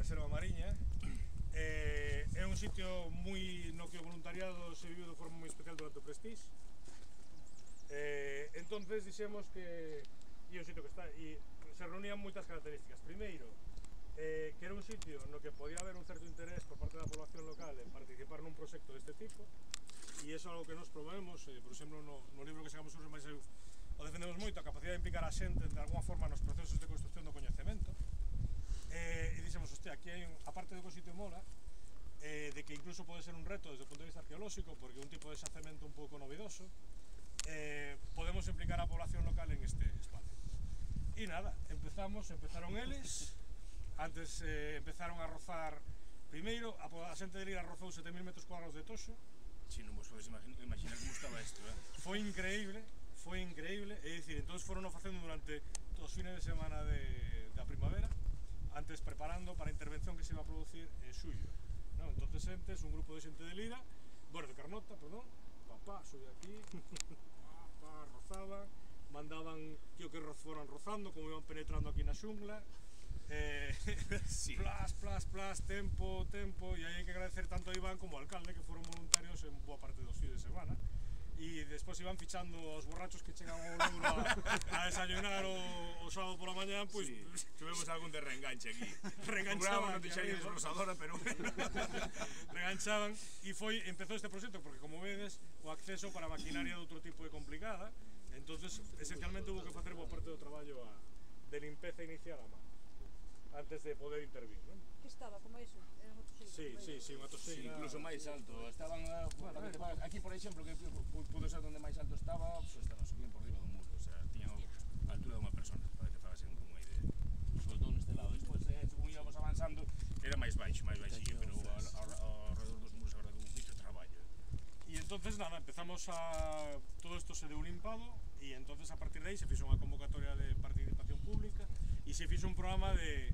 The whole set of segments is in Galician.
Reserva Mariña. É un sitio moi no que o voluntariado se vive de forma moi especial durante o Prestige. Entonces dixemos que é un sitio que está e se reunían moitas características. Primeiro, que era un sitio no que podía haber un certo interés por parte da población local en participar nun proxecto deste tipo, e iso é algo que nos promovemos, por exemplo, no libro que sacamos sobre máis o defendemos moito, a capacidade de implicar a xente de alguma forma nos procesos de construcción do coñecemento. E dixemos, hostia, aquí hai, aparte de que o sitio mola, de que incluso pode ser un reto desde o punto de vista arqueolóxico, porque é un tipo de xacemento un pouco novedoso, podemos implicar a población local en este espacio. E nada, empezaron eles, antes empezaron a rozar, primeiro, a xente de Lira rozou 7.000 metros cuadrados de toxo. Si, non vos podes imaginar como estaba isto, Foi increíble, é dicir, entón foron facendo durante os fines de semana da primavera, antes preparando para a intervención que se iba a producir en xullo. Entonces entes, un grupo de xente de Lira, bueno, de Carnota, perdón, papá, sube aquí, rozaban, mandaban que foran rozando, como iban penetrando aquí na xungla, plas, tempo, e aí hai que agradecer tanto a Iván como ao alcalde, que foron voluntarios en boa parte dos fines de semana, e despois iban fichando os borrachos que chegan ao Louro a desayunar o sábado pola mañá, pois tuvemos algún de reenganche aquí. Reenganchaban, non te xarías rosadora, pero reenganchaban, e empezou este proxecto, porque como vedes, o acceso para maquinaria de outro tipo é complicada, entonces esencialmente hubo que facer boa parte do traballo de limpeza inicial a mano, antes de poder intervir, non? Que estaba, como iso? Era unha toseira? Sí, unha toseira. Incluso máis alto. Estaban, aquí por exemplo, que pudo ser onde máis alto estaba, estaban subindo por riba do muro, o sea, tiñan a altura dunha persona, para que fagasen unha idea. Sobre todo neste lado, despois, según íbamos avanzando, era máis baixillo, pero ao redor dos muros agora un moito traballo. E entonces nada, empezamos a... todo isto se deu limpado, e entonces a partir de aí se fixo unha convocatoria de participación pública e se fixo un programa de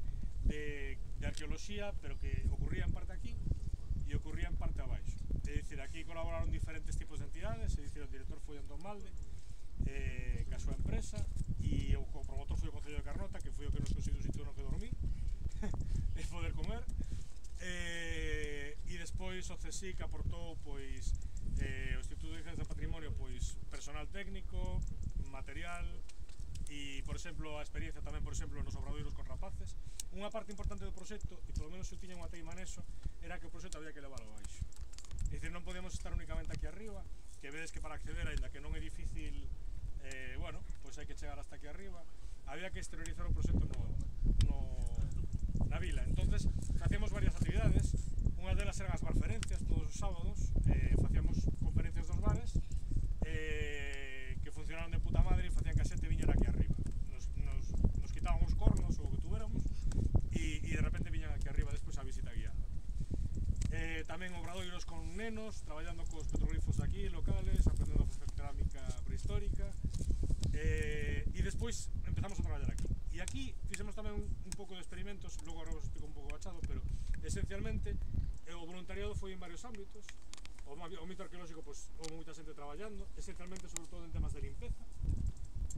arqueoloxía, pero que ocurría en parte aquí e ocurría en parte abaixo. É dicir, aquí colaboraron diferentes tipos de entidades, é dicir, o director foi Antón Malde, que a súa empresa, e o promotor foi o Concello de Carnota, que foi o que nos conseguiu un sitio no que dormir e poder comer, e despois o CSIC aportou pois o Instituto de Ciencias do Patrimonio pois personal técnico, material e, por exemplo, a experiencia tamén, por exemplo, nos obradoiros con rapaces. Unha parte importante do proxecto, e polo menos eu tiña unha teima neso, era que o proxecto había que leválo abaixo. É dicir, non podíamos estar únicamente aquí arriba, que vedes que para acceder, aínda que non é difícil, bueno, pois hai que chegar hasta aquí arriba, había que exteriorizar o proxecto na vila. Entonces, facíamos varias actividades, unha delas eran as barferencias todos os sábados, facíamos conferencias dos bares, que funcionaron de puta madre e facían que a xente viñera aquí arriba. Nos quitaban os cornos ou o que tuveramos e de repente viñan aquí arriba despois a visita guiada. Tamén obradoiros con nenos, traballando cos petroglifos aquí, locales, aprendendo a facer cerámica prehistórica, e despois empezamos a traballar aquí. E aquí fixemos tamén un pouco de experimentos, logo agora vos explico un pouco bachado, pero esencialmente o voluntariado foi en varios ámbitos. O mito arqueolóxico, pois, houve moita xente traballando, esencialmente sobre todo en temas de limpeza.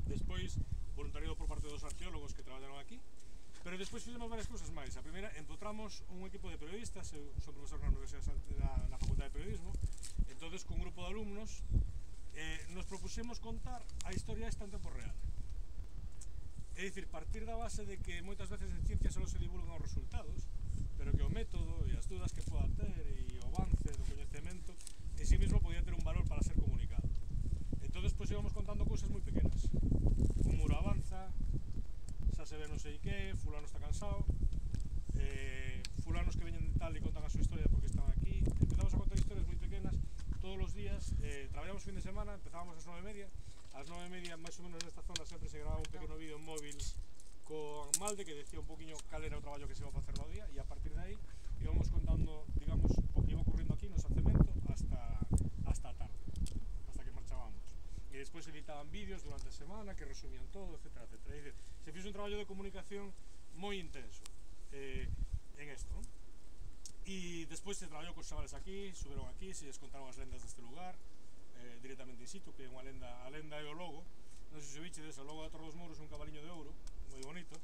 Despois, voluntariado por parte dos arqueólogos que traballaron aquí. Pero despois fizemos varias cousas máis. A primeira, empotramos un equipo de periodistas, eu son profesor na Facultade de Periodismo, entonces, con un grupo de alumnos, nos propuxemos contar a historia esta en tempo real. É dicir, partir da base de que moitas veces en ciencia só se divulgan os resultados, pero que o método e as dúdas que poda ter e o avance do coñecemento en sí mismo podía ter un valor para ser comunicado. Entón, pois íbamos contando cousas moi pequenas. Un muro avanza, xa se ve non sei que, fulano está cansado, fulanos que veñen de tal e contan a súa historia porque están aquí. Empezamos a contar historias moi pequenas todos os días, traballamos fin de semana, empezábamos ás 9:30, ás 9:30 máis ou menos nesta zona sempre se grababa un pequeno vídeo en móvil con Malde que decía un poquinho cal era o traballo que se iba a facer no día, e a partir de aí íbamos contando, digamos, o que iba ocurrindo aquí no xacemento hasta a tarde, hasta que marchábamos. E despois editaban vídeos durante a semana que resumían todo, etcétera, etcétera. Se fixo un traballo de comunicación moi intenso en isto, non? E despois se traballou cos chavales aquí, suberon aquí, se lles contaron as lendas deste lugar, directamente in situ, que é unha lenda, a lenda é o logo, non sei se vichedes, o logo da Torre dos Mouros é un cabaliño de ouro, moi bonito,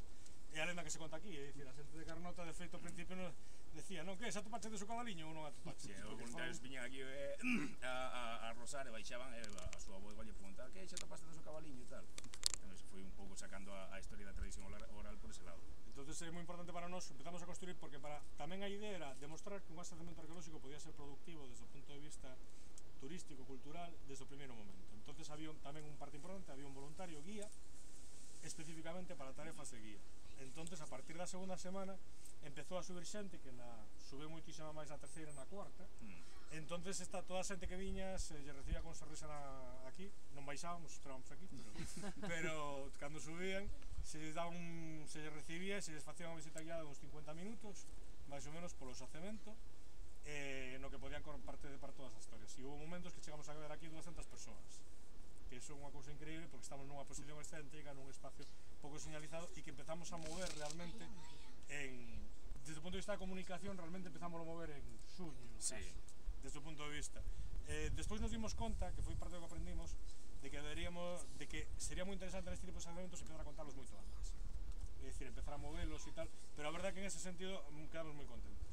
É a lenda que se conta aquí, é dicir, a xente de Carnota, de feito, ao principio nos decía, non, que, xa atopache de su cabaliño ou non atopache? Os voluntarios viñan aquí a rosar e baixaban e a súa avó lle preguntaba que xa atopaste do seu cabaliño e tal. Entón, se foi un pouco sacando a historia da tradición oral por ese lado. Entonces é moi importante para nós, empezamos a construir porque tamén a idea era demostrar que un asentamiento arqueolóxico podía ser productivo desde o punto de vista turístico, cultural, desde o primeiro momento. Entonces había tamén un parte importante, había un voluntario guía especificamente para tarefas de guía. Entonces, a partir da segunda semana empezou a subir xente que sube moitísima máis na terceira e na cuarta. Entonces toda a xente que viña se lle recibía con sonrisa aquí, non baixábamos, esperábamos aquí, pero cando subían se lle recibía e se lles facía unha visita guiada de uns 50 minutos, máis ou menos polo xacemento, no que podían participar todas as historias. E houve momentos que chegamos a ver aquí 200 persoas, que iso é unha cousa increíble porque estamos nunha posición excéntrica, nun espacio pouco señalizado e que empezamos a mover realmente desde o punto de vista da comunicación, realmente empezamos a mover en xuño, desde o punto de vista. Despois nos dimos conta, que foi parte do que aprendimos, de que sería moi interesante neste tipo de eventos empezar a contarlos moito antes, é dicir, empezar a movelos e tal, pero a verdade é que en ese sentido quedamos moi contentos.